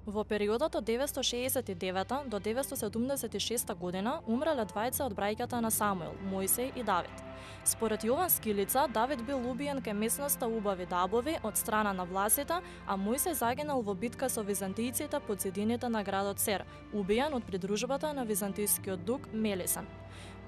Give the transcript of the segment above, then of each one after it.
Во периодот од 969 до 976 година умреле двајца од браќата на Самуил, Мојсей и Давид. Според Јован Скилица, Давид бил убиен кај местноста Убави Дабови од страна на власите, а Мојсей загинал во битка со византијците под зидините на градот Сер, убиен од придружбата на византијскиот дук Мелисан.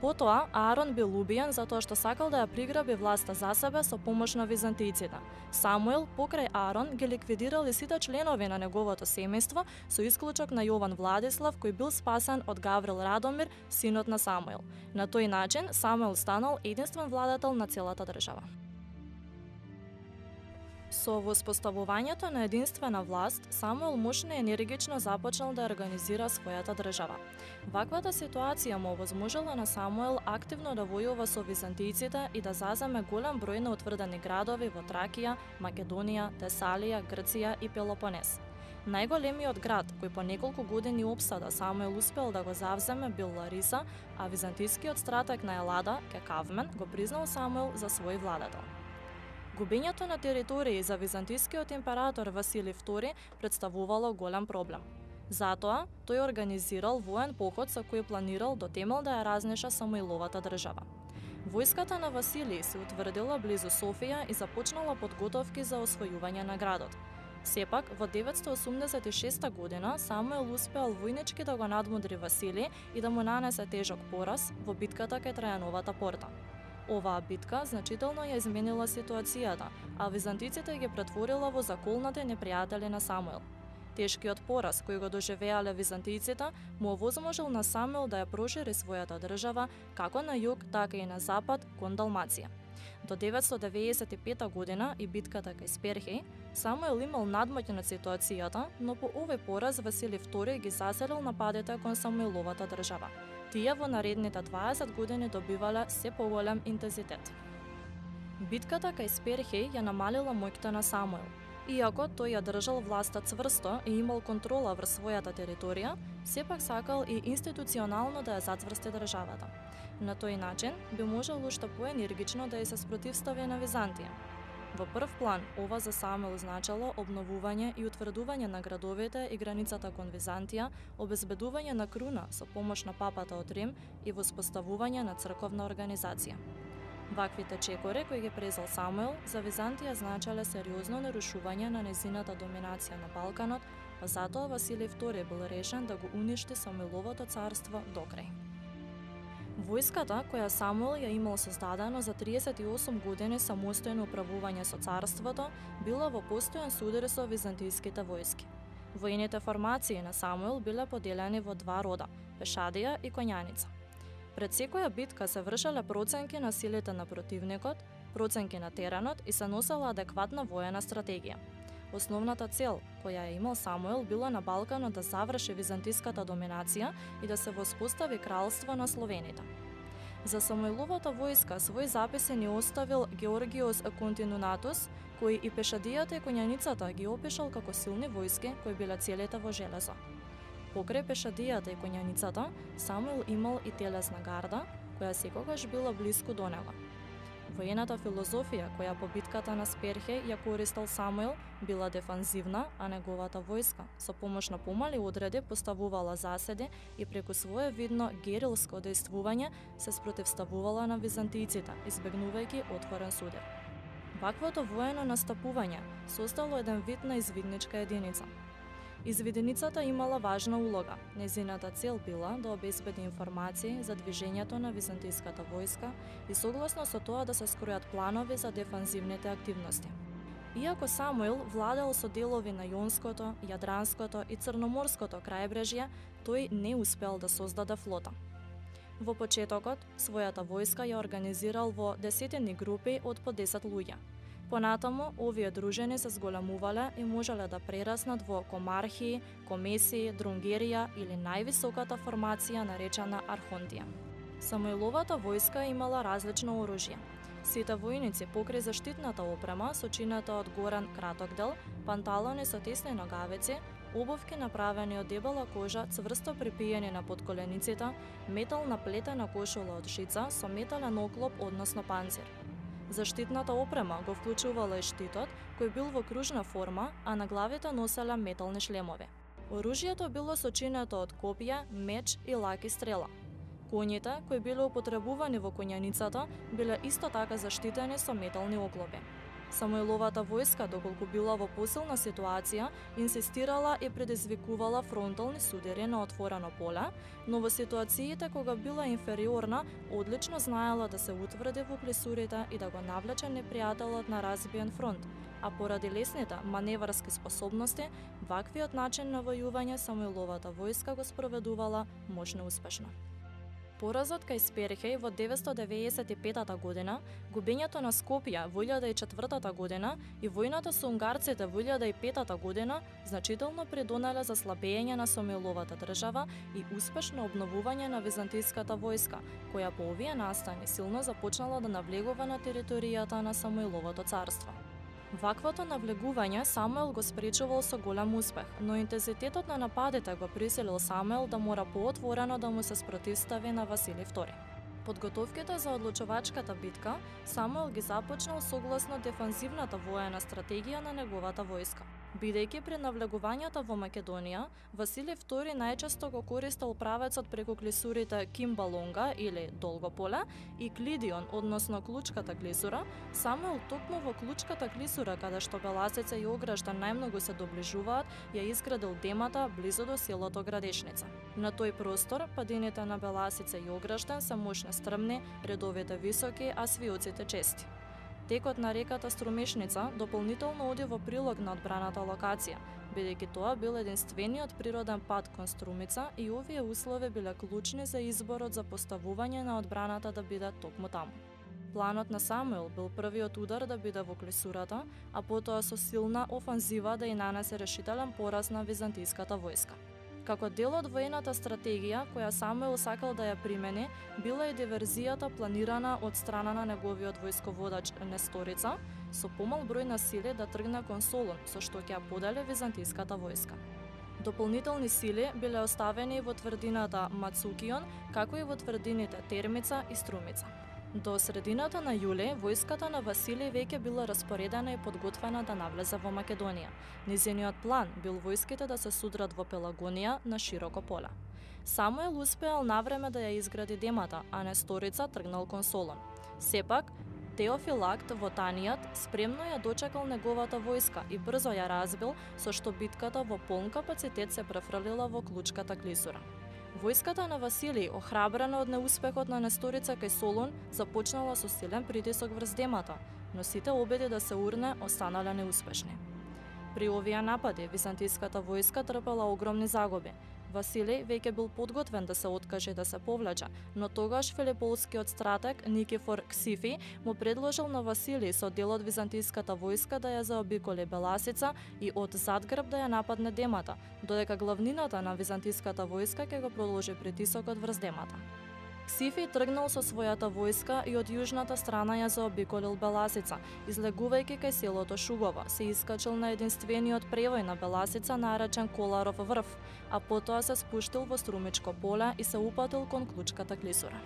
Потоа, Аарон бил убиен затоа што сакал да ја приграби власта за себе со помош на византијците. Самуил, покрај Аарон, ги ликвидирал и сите членови на неговото семејство, со исклучок на Јован Владислав, кој бил спасен од Гаврил Радомир, синот на Самуил. На тој начин, Самуил станал единствен владетел на целата држава. Со воспоставувањето на единствена власт, Самуил мощно и енергично започнал да организира својата држава. Ваквата ситуација му овозможила на Самуил активно да војува со византијците и да заземе голем број на утврдени градови во Тракија, Македонија, Тесалија, Грција и Пелопонес. Најголемиот град кој по неколку години опсада Самуил успел да го завземе бил Лариса, а византијскиот стратег на Елада, Кекавмен, го признал Самуил за свој владетел. Губењето на територии за византијскиот император Василий II представувало голем проблем. Затоа, тој организирал воен поход со кој планирал до темел да ја разнеша Самуиловата држава. Војската на Василий се утврдила близу Софија и започнала подготовки за освојување на градот. Сепак, во 986 година Самуил успеал војнички да го надмудри Василий и да му нанесе тежок пораз во битката кај Трајановата порта. Оваа битка значително ја изменила ситуацијата, а византиците ги претворила во заколнати непријатели на Самуил. Тешкиот пораз кој го доживеале византијците му овозможил на Самуил да ја прошири својата држава како на југ, така и на запад кон Далмација. До 995 година и битката кај Сперхеј, Самуил имал надмоќ над ситуацијата, но по овој пораз Василий II ги заселил нападите кон Самуиловата држава. Тие во наредните 20 години добивале се поголем интензитет. Битката кај Сперхеј ја намалила моќта на Самуил. Иако тој ја држал власта цврсто и имал контрола врз својата територија, сепак сакал и институционално да ја зацврсти државата. На тој начин би можел уште поенергично да ја се спротивстави на Византија. Во прв план, ова за Самуил значело обновување и утврдување на градовите и границата кон Византија, обезбедување на круна со помош на папата од Рим и воспоставување на црковна организација. Ваквите чекори кои ги презал Самуил за Византија значеле сериозно нарушување на незината доминација на Балканот, па затоа Василий II бил решен да го уништи Самуиловото царство докрај. Војската, која Самуил ја имал создадено за 38 години самостојно управување со царството, била во постојан судар со византијските војски. Војните формации на Самуил биле поделени во два рода – пешадија и коњаница. Пред секоја битка се вршеле проценки на силите на противникот, проценки на теренот и се носела адекватна воена стратегија. Основната цел, која ја имал Самуил, била на Балканот да заврши византиската доминација и да се воспостави кралство на словените. За Самуиловата војска свој записи ни оставил Георгиос Континунатус, кој и пешадијата и коњаницата ги опишал како силни војски кои биле целите во железо. Покрај пешадијата и коњаницата, Самуил имал и телесна гарда, која секогаш била блиску до него. Воената филозофија која по битката на Сперхеј ја користел Самуил била дефанзивна, а неговата војска со помош на помали одреди поставувала заседи и преку свое видно герилско дејствување се спротивставувала на византијците, избегнувајќи отворен судир. Ваквото воено настапување создало еден вид на извидничка единица. Извиденицата имала важна улога. Незината цел била да обезбеди информации за движењето на византиската војска и согласно со тоа да се скројат планови за дефанзивните активности. Иако Самуил владел со делови на Јонското, Јадранското и Црноморското крајбрежје, тој не успел да создаде флота. Во почетокот, својата војска ја организирал во десетини групи од по 10 луѓе. Понатаму, овие дружини се зголемувале и можеле да прераснат во комархии, комесии, друнгерија или највисоката формација наречена архонтија. Самуиловата војска имала различно оружје. Сите војници покрај заштитната опрема, сочината од горен краток дел, панталони со тесни ногавици, обувки направени од дебела кожа, цврсто припиени на подколениците, метална плетена кошула од жица со метален оклоп, односно панцир. Заштитната опрема го вклучувала и штитот, кој бил во кружна форма, а на главите носеле метални шлемови. Оружјето било сочинето од копија, меч и лаки стрела. Коњите, кои биле употребувани во коњаницата, биле исто така заштитени со метални оклопи. Самуиловата војска, доколку била во посилна ситуација, инсистирала и предизвикувала фронтални судири на отворено поле, но во ситуациите кога била инфериорна, одлично знаела да се утврди во клисурите и да го навлече непријателот на разбиен фронт, а поради лесните маневарски способности, ваквиот начин на војување Самуиловата војска го спроведувала можно успешно. Поразот кај Сперхеј во 995 година, губењето на Скопје во 1004 година и војната со унгарците во 1005 година значително придонеле за слабење на Самуиловата држава и успешно обновување на византиската војска, која по овие настани силно започнала да навлегува на територијата на Самуиловото царство. Ваквото навлегување Самуил го спречувал со голем успех, но интензитетот на нападите го присилил Самуил да мора поотворено да му се спротивстави на Василий II. Подготовките за одлучувачката битка Самуил ги започнал согласно дефанзивната воена стратегија на неговата војска. Бидејќи при навлегувањето во Македонија, Василий II најчесто го користел правецот преку клисурите Кимбалонга или Долго поле и Клидион, односно Клучката клисура, Самуил токму во Клучката клисура, каде што Беласица и Ограждан најмногу се доближуваат, ја изградил демата близу до селото Градешница. На тој простор, падините на Беласица и Ограждан се мощни стрмни, редовите високи, а свиоците чести. Текот на реката Струмешница дополнително оди во прилог на одбраната локација, бидејќи тоа бил единствениот природен пат кон Струмица и овие услови биле клучни за изборот за поставување на одбраната да биде токму таму. Планот на Самуил бил првиот удар да биде во клисурата, а потоа со силна офанзива да ја нанесе решителен пораз на византиската војска. Како дел од воената стратегија која Самуил сакал да ја примени, била и диверзијата планирана од страна на неговиот војсководач Несторица, со помал број на сили да тргне кон Солун, со што ќе ја подели византиската војска. Дополнителни сили биле оставени во тврдината Мацукион, како и во тврдините Термица и Струмица. До средината на јули, војската на Василий веќе била распоредена и подготвена да навлезе во Македонија. Низиниот план бил војските да се судрат во Пелагонија на широко поле. Самуил успеал навреме да ја изгради демата, а Несторица тргнал кон Солун. Сепак, Теофилакт Вотанијат спремно ја дочекал неговата војска и брзо ја разбил, со што битката во полн капацитет се префрлила во Клучката клисура. Војската на Василий, охрабрена од неуспехот на Несторица кај Солун, започнала со силен притисок врз демата, но сите обиди да се урне останале неуспешни. При овие напади, византиската војска трпела огромни загуби. Василий веќе бил подготвен да се откаже да се повлече, но тогаш филиполскиот стратег Никифор Ксифи му предложил на Василий со дел од византиската војска да ја заобиколи Беласица и од задгрб да ја нападне демата, додека главнината на византиската војска ќе го продолжи притисокот врз демата. Ксифи тргнал со својата војска и од јужната страна ја заобиколил Беласица, излегувајќи кај селото Шугова, се искачил на единствениот превој на Беласица наречен Коларов врв, а потоа се спуштил во Струмичко поле и се упатил кон Клучката клисура.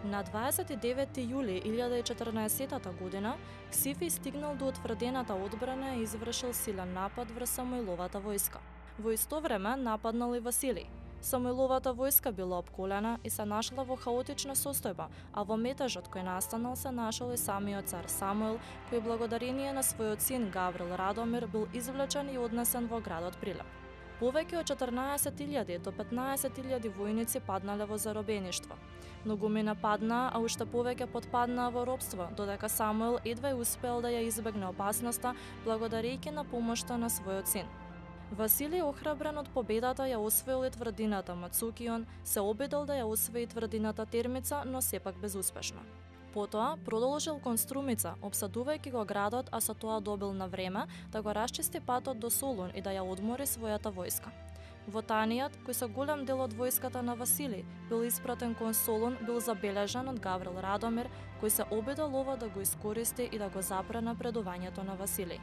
На 29 јули 1014 година, Ксифи стигнал до утврдената одбрана и извршил силен напад врз Самуиловата војска. Во исто време нападнал и Василий. Самуиловата војска била обколена и се нашла во хаотична состојба, а во метежот кој настанал се нашол и самиот цар Самуил, кој благодарение на својот син Гаврил Радомир бил извлечен и однесен во градот Прилеп. Повеќе од 14.000 до 15.000 војници паднале во заробеништво. Многумина паднаа, а уште повеќе потпаднаа во робство, додека Самуил едва успел да ја избегне опасноста благодарејќи на помошта на својот син. Василий, охрабрен од победата, ја освоил и тврдината Мацукион, се обидел да ја освои тврдината Термица, но сепак безуспешно. Потоа продолжил кон Струмица, обсадувајќи го градот, а со тоа добил на време да го расчисти патот до Солун и да ја одмори својата војска. Вотанијат, кој со голем дел од војската на Василий бил испратен кон Солун, бил забележан од Гаврил Радомир, кој се обидел ова да го искористи и да го запре напредувањето на Василий.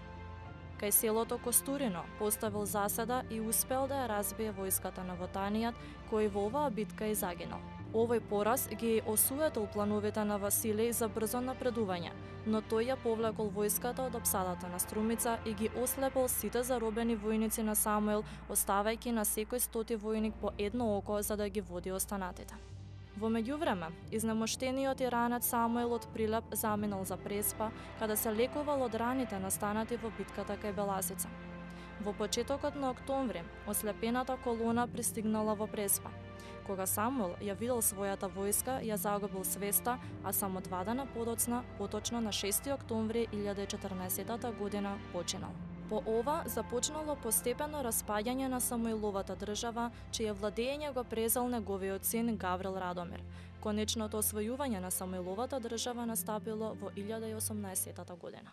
Кај селото Костурино поставил заседа и успел да ја разбие војската на Вотанијат, кој во оваа битка и загинал. Овој пораз ги осуетил плановите на Василий за брзо напредување, но тој ја повлекол војската од опсадата на Струмица и ги ослепил сите заробени војници на Самуил, оставајќи на секој 100 војник по едно око за да ги води останатите. Во меѓувреме, изнемоштениот и ранет Самуил од Прилеп заминал за Преспа, каде се лекувал од раните настанати во битката кај Беласица. Во почетокот на октомври, ослепената колона пристигнала во Преспа. Кога Самуил ја видел својата војска, ја загубил свеста, а само 2 дена подоцна, поточно на 6 октомври 1014 година, починал. По ова започнало постепено распаѓање на Самуиловата држава, чие владење го презел неговиот син Гаврил Радомир. Конечното освојување на Самуиловата држава настапило во 1018 година.